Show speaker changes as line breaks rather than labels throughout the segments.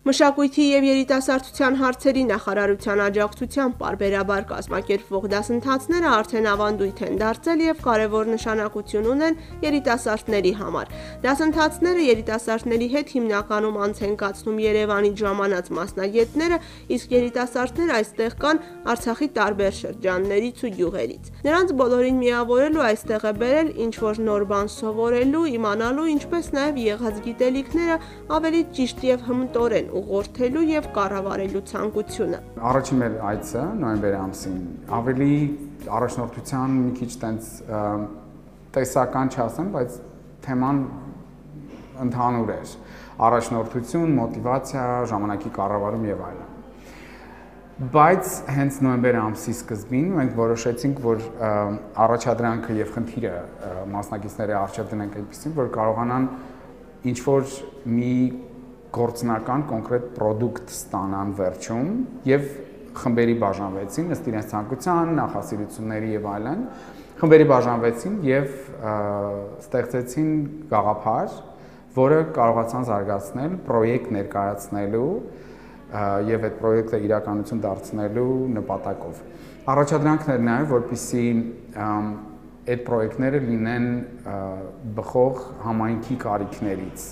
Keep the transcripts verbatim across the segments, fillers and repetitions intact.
Մշակույթի և երիտասարդության հարցերի նախարարության աջակցությամբ պարբերաբար կազմակերպվող դասընթացները արդեն ավանդույթ են դարձել և կարևոր նշանակություն ունեն երիտասարդների համար։ Դասընթացները երիտասարդների հետ հիմնականում անց են կացնում Երևանից ժամանած մասնագետները, իսկ երիտասարդները այստեղ կան Արցախի տարբեր շրջաններից ու գյուղերից։ Նրանց բոլորին միավորելու այստեղ է բերել ինչ-որ նոր բան սովորելու, իմանալու, ինչպես նաև եղած գիտելիքները ավելի ճիշտ և հմտորեն ուղղորդելու և կառավարելու ցանկությունը։
Առաջին մեր այցը նոյեմբերի ամսին ավելի առաջնորդության մի քիչ տենց տեսական չասեմ, բայց թեման ընդհանուր էր։ Առաջնորդություն, մոտիվացիա, ժամանակի կառավարում եւ այլն։ Բայց հենց նոյեմբերի ամսի սկզբին մենք որոշեցինք, որ առաջադրանքը եւ խնդիրը մասնակիցների առջեւ դնենք այնպեսին, որ կարողանան ինչ-որ մի գործնական կոնկրետ պրոդուկտ ստանան վերջում եւ խմբերի բաժանվեցին ըստ իրենց ցանկության, նախասիրությունների եւ այլն։ Խմբերի բաժանվեցին եւ ստեղծեցին գաղափար, որը կարողացան զարգացնել պրոյեկտ ներկայացնելու եւ այդ պրոյեկտը իրականություն դարձնելու նպատակով։ Առաջադրանքն էր նաեւ, որպեսզի այդ պրոյեկտները լինեն բխող համայնքի կարիքներից,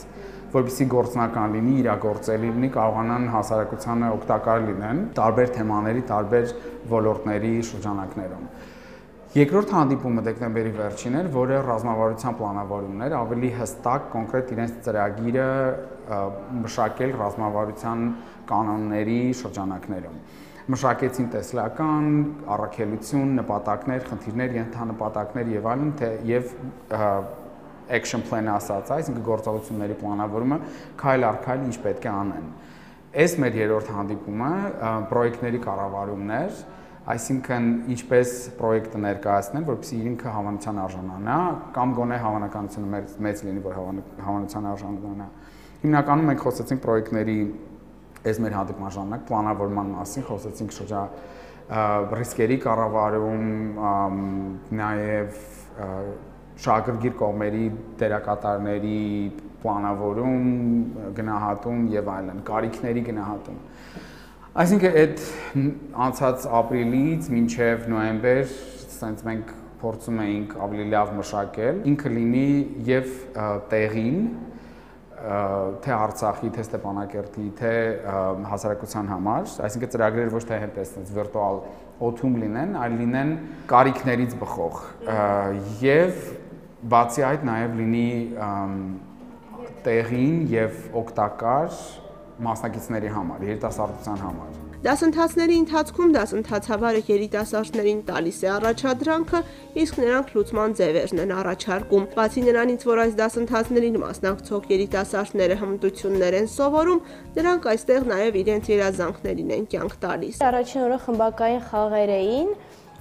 որպեսզի գործնական լինի, իրագործելի լինի, կարողանան հասարակությանը օգտակար լինեն տարբեր թեմաների, տարբեր ոլորտների շրջանակներում։ Երկրորդ հանդիպումը դեկտեմբերի վերջին էր, որը ռազմավարության պլանավորումն էր, ավելի հստակ, կոնկրետ իրենց ծրագիրը մշակել ռազմավարության կանոնների շրջանակներում։ Մշակեցին տեսլական, առաքելություն, նպատակներ, խնդիրներ, ենթանպատակներ եւ այլն, եւ action plan-ը ասած, այսինքն գործողությունների պլանավորումը քայլ առ քայլ ինչ պետք է անեն։ Այս մեր երրորդ հանդիպումը պրոյեկտների կառավարումն էր, այսինքն ինչպես պրոյեկտը ներկայացնեն, որպեսզի ինքը հավանության արժանանա, կամ գոնե հավանականությունը մեծ լինի, որ հավանության արժանանա։ Հիմնականում մենք խոսեցինք պրոյեկտների այս մեր հանդիպման ժամանակ պլանավորման մասին, խոսեցինք շրջա ռիսկերի կառավարում, նաև շահագրգիռ կողմերի դերակատարների պլանավորում, գնահատում եւ այլն, կարիքների գնահատում։ Այսինքն այդ անցած ապրիլից մինչեւ նոյեմբեր ասենց մենք փորձում էինք ավելի լավ մշակել, ինքը լինի եւ տեղին, թե Արցախի, թե Ստեփանակերտի, թե հասարակության համար, այսինքն ծրագրերը ոչ թե հենց այսպես վիրտուալ օթում լինեն, այլ լինեն կարիքներից բխող եւ բացի այդ նաև լինի տեղին եւ օգտակար մասնակիցների համար, երիտասարդության համար։
Դասընթացների ընթացքում դասընթացավարը երիտասարդներին տալիս է առաջադրանքը, իսկ նրանք լուծման ձևերն են առաջարկում։ Բացի նրանից, որ այս դասընթացներին մասնակցող երիտասարդները հմտություններ են սովորում, նրանք այստեղ նաև իրենց երազանքներին են կյանք տալիս։
Առաջին օրը խմբակային խաղեր էին։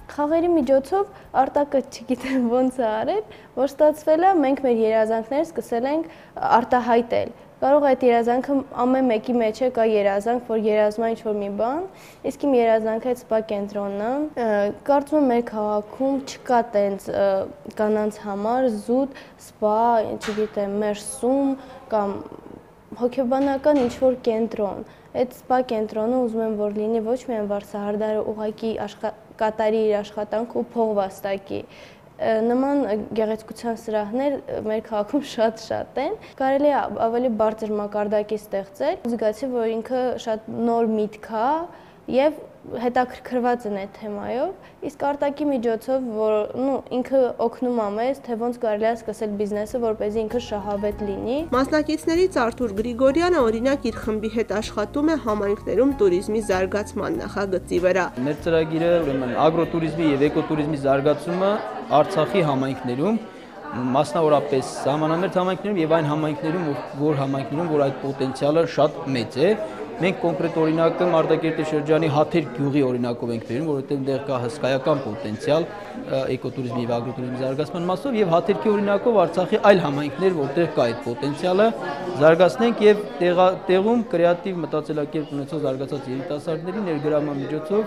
Խաղերի միջոցով Արտակը չգիտեմ ոնց է արել, որ ստացվել է, մենք մեր երազանքները սկսել ենք արտահայտել։ Կարող է այդ երազանքը ամեն մեկի մեջ է կա երազանք, որ երազում է ինչ-որ մի բան, իսկ իմ երազանքը այդ սպա կենտրոնն է։ Կարծում եմ մեր քաղաքում չկա տենց կանանց համար զուտ սպա, չգիտեմ, մերսում կամ հոգեբանական ինչ-որ կենտրոն։ Այդ սպա կենտրոնը ուզում եմ, որ լինի ոչ միայն վարսահարդարը ուղղակի կատարի իր աշխատանքը ու փող վաստակի։ Նման գեղեցկության սրահներ մեր քաղաքում շատ-շատ են։ Կարելի է ավելի բարձր մակարդակի ստեղծել։ Զգացի, որ ինքը շատ նոր միտք է եւ հետաքրքրված են այդ թեմայով, իսկ արտակի միջոցով, որ նու ինքը օգնում է մեզ, թե ոնց կարելի է սկսել բիզնեսը, որպեսզի ինքը շահավետ լինի։
Մասնակիցներից Արթուր Գրիգորյանը օրինակ իր խմբի հետ աշխատում է համայնքներում туриզմի զարգացման նախագծի վրա։
Մեր ծրագիրը ուրեմն ագրոտուրիզմի եւ էկոտուրիզմի զարգացումը Արցախի համայնքներում, մասնավորապես սահմանամերձ համայնքներում եւ այն համայնքներում, որ համայնքներում, որ այդ պոտենցիալը շատ մեծ է։ Մենք կոնկրետ օրինակը Մարտակերտի շրջանի Հաթեր գյուղի օրինակով ենք բերում, որովհետև այնտեղ կա հսկայական պոտենցիալ էկոտուրիզմի եւ ագրոտուրիզմի զարգացման մասով եւ Հաթերքի օրինակով Արցախի այլ համայնքներ, որտեղ կա այդ պոտենցիալը, զարգացնենք եւ տեղում կրեատիվ մտածելակերպ ունեցող զարգացած երիտասարդների ներգրավման միջոցով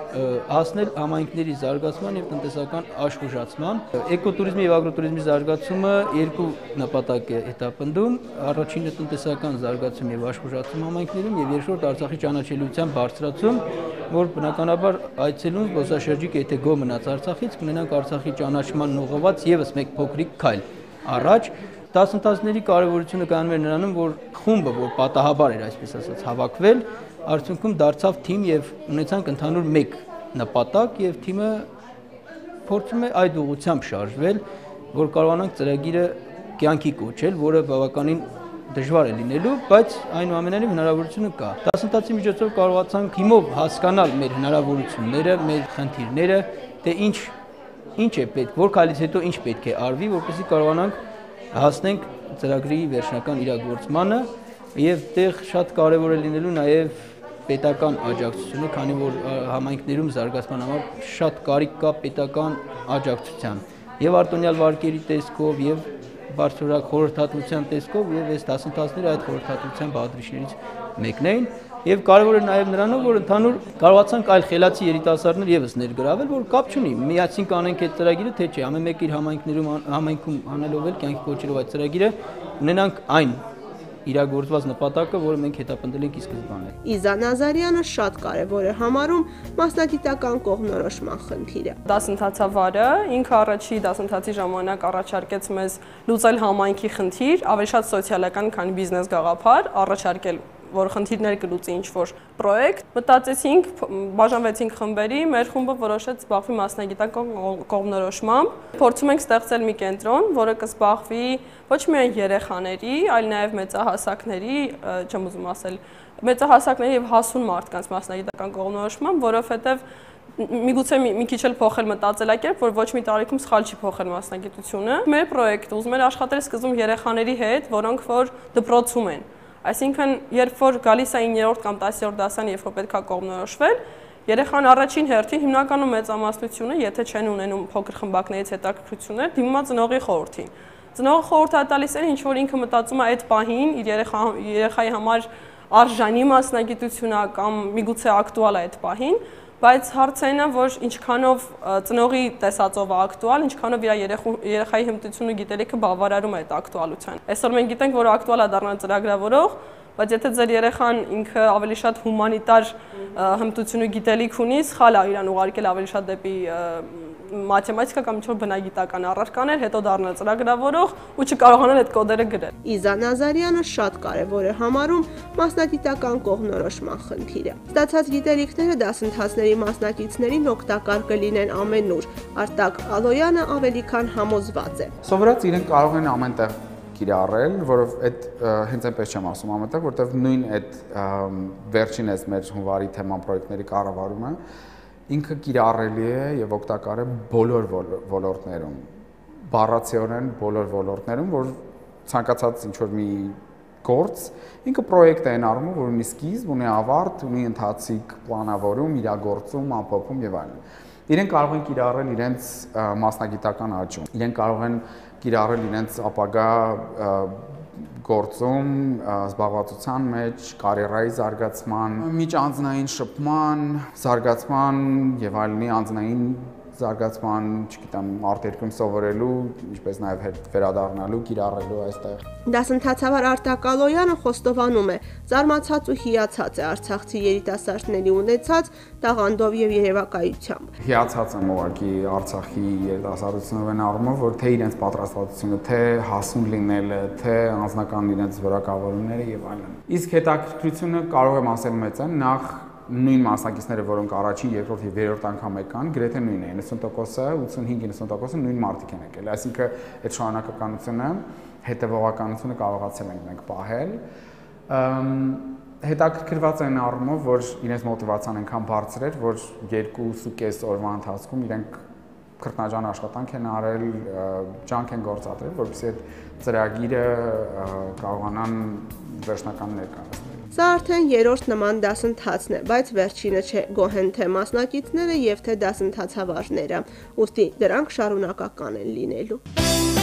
հասնել համայնքների զարգացման եւ տնտեսական աշխուժացման։ Էկոտուրիզմի եւ ագրոտուրիզմի զարգացումը երկու նպատակ է հետապնդում. առաջինը տնտեսական զարգացում եւ աշխուժացում համայնքներում եւ երկրորդ Արցախի ճանաչելիության բարձրացում, որ բնականաբար այցելուն զբոսաշրջիկ եթե գոհ մնաց Արցախից, կունենանք Արցախի ճանաչման ուղղված եւս մեկ փոքրիկ քայլ առաջ։ Դասընթացների կարևորությունը կանում էր նրանում, որ խումբը, որ պատահաբար էր, այսպես ասած, հավաքվել, արդյունքում դարձավ թիմ եւ ունեցանք ընդհանուր մեկ նպատակ եւ թիմը փորձում է այդ ուղղությամբ շարժվել, որ կարողանանք ծրագիրը կյանքի կոչել, որը բավականին դժվար է լինելու, բայց այնուամենայնիվ հնարավորությունը կա։ Դասընթացի միջոցով կարողացանք հիմով հասկանալ մեր հնարավորությունները, մեր խնդիրները, թե ինչ ինչ է պետք, որ քայլից հետո ինչ պետք է արվի, որպեսզի կարողանանք հասնենք ծրագրի վերջնական իրագործմանը եւ դեղ շատ կարեւոր է լինելու նաեւ պետական աջակցությունը, քանի որ համայնքներում զարգացման համար շատ կարիք կա պետական աջակցության եւ արտոնյալ վարկերի տեսքով եւ բարձրորակ խորհրդատվության տեսքով եւ այս դասընթացները այդ խորհրդատվության բաղադրիչներից մեկն էին եւ կարեւոր է նաեւ նրանով, որ ընդհանուր կարողացանք այլ խելացի երիտասարդներ եւս ներգրավել, որ կապ չունի միացին կանենք այդ ծրագիրը, թե չէ, ամեն մեկ իր համայնքներում համայնքում անելով էլ կյանքի կոչելով այդ ծրագիրը ունենանք այն իրագործված նպատակը, որը մենք հետապնդել ենք ի սկզբանե։
Իզա Նազարյանը շատ կարևոր է համարում մասնագիտական կողմնորոշման խնդիրը։
Դասընթացավարը ինքը առաջի դասընթացի ժամանակ առաջարկեց մեզ լուծել համայնքի խնդիր, ավելի շատ սոցիալական, քան բիզնես գաղափար, առաջարկել որ խնդիրներ կլուծի ինչ-որ պրոյեկտ, մտածեցինք, բաժանվեցինք խմբերի, մեր խումբը որոշեց զբաղվի մասնագիտական կողմնորոշմամբ։ Փորձում ենք ստեղծել մի կենտրոն, որը կզբաղվի ոչ միայն երեխաների, այլ նաև մեծահասակների, չեմ ուզում ասել, մեծահասակների եւ հասուն մարդկանց մասնագիտական կողմնորոշմամբ, որովհետեւ միգուցե մի քիչ էլ փոխել մտածելակերպ, որ ոչ մի տարիքում սխալ չի փոխել մասնագիտությունը։ Մեր պրոյեկտը ուզում էր աշխատել սկզբում երեխաների հետ, որոնք որ դպրոցում են։ Այսինքն, երբ որ գալիս է իններորդ կամ տասերորդ դասան, երբ որ պետք է կողմնորոշվել, երեխան առաջին հերթին հիմնականում մեծամասնությունը, եթե չեն ունենում փոքր խմբակներից հետաքրքրություններ, դիմում է ծնողի խորհրդին։ Ծնողը խորհուրդ է տալիս այն, ինչ որ ինքը մտածում է այդ պահին իր երեխա երեխայի համար արժանի մասնագիտությունը կամ միգուցե ակտուալ է այդ պահին, բայց հարցը այն է, որ ինչքանով ծնողի տեսածով է ակտուալ, ինչքանով իր երեխայի հմտությունը գիտելիքը բավարարում է այդ ակտուալության։ Այսօր մենք գիտենք, որ ակտուալ է դառնալ ծրագրավորող, բայց եթե ձեր երեխան ինքը ավելի շատ հումանիտար հմտություն ու գիտելիք ունի, սխալ է իրան ուղարկել ավելի շատ դեպի մաթեմատիկա կամ ինչ-որ բնագիտական առարկաներ, հետո դառնալ ծրագրավորող ու չկարողանալ այդ կոդերը գրել։
Իզա Նազարյանը շատ կարևոր է համարում մասնագիտական կողմնորոշման խնդիրը։ Ստացած գիտելիքները դասընթացների մասնակիցներին օգտակար կլինեն ամենուր։ Արտակ Ալոյանը ավելի քան համոզված է։
Սովորած իրենք կարող են ամենտեղ կիրառել, որով այդ հենց այնպես չեմ ասում ամենտեղ, որտեղ նույն այդ վերջին էս մեր հունվարի թեման պրոյեկտների կառավարումը ինքը կիրառելի է եւ օգտակար է բոլոր ոլորտներում, բառացիորեն բոլոր ոլորտներում, որ ցանկացած ինչ-որ մի գործ, ինքը պրոյեկտ է այն առումով, որ ունի սկիզբ, ունի ավարտ, ունի ընթացիկ պլանավորում, իրագործում, ամփոփում եւ այլն։ Իրենք կարող են կիրառել իրենց մասնագիտական աճում, իրենք կարող են կիրառել իրենց ապագա գործում, զբաղվածության մեջ, կարիերայի զարգացման, միջանձնային շփման, զարգացման եւ այլնի անձնային զարգացման, չգիտեմ, արտերկրում սովորելու, ինչպես նաև վերադառնալու, կիրառելու այստեղ։
Դասընթացավար Արտակ Ալոյանը խոստովանում է, զարմացած ու հիացած է արցախցի երիտասարդների ունեցած տաղանդով եւ երևակայությամբ։
Հիացած եմ ուղղակի Արցախի երիտասարդությունով այն առումով, որ թե իրենց պատրաստվածությունը, թե հասուն լինելը, թե անձնական իրենց որակավորումները եւ այլն։ Իսկ հետաքրքրությունը կարող եմ ասել մեծ է, նախ նույն մասնակիցները, որոնք առաջին, երկրորդ եւ երրորդ անգամ եկան, գրեթե նույնն է, ninety տոկոսը, ութսունհինգ իննսուն տոկոսը նույն մարդիկ են եկել։ Այսինքն այդ շարունակականությունը, հետևողականությունը կարողացել ենք մենք պահել։ Հետաքրքրված են առումով, որ իրենց մոտիվացիան այնքան բարձր էր, որ երկուսուկես օրվա ընթացքում իրենք քրտնաջան աշխատանք են արել, ջանք են գործադրել, որպեսզի այդ ծրագիրը կարողանան վերջնական ներկայացնել։
Սա արդեն երրորդ նման դասընթացն է, բայց վերջինը չէ, գոհ են թե մասնակիցները եւ թե դասընթացավարները, ուստի դրանք շարունակական են լինելու։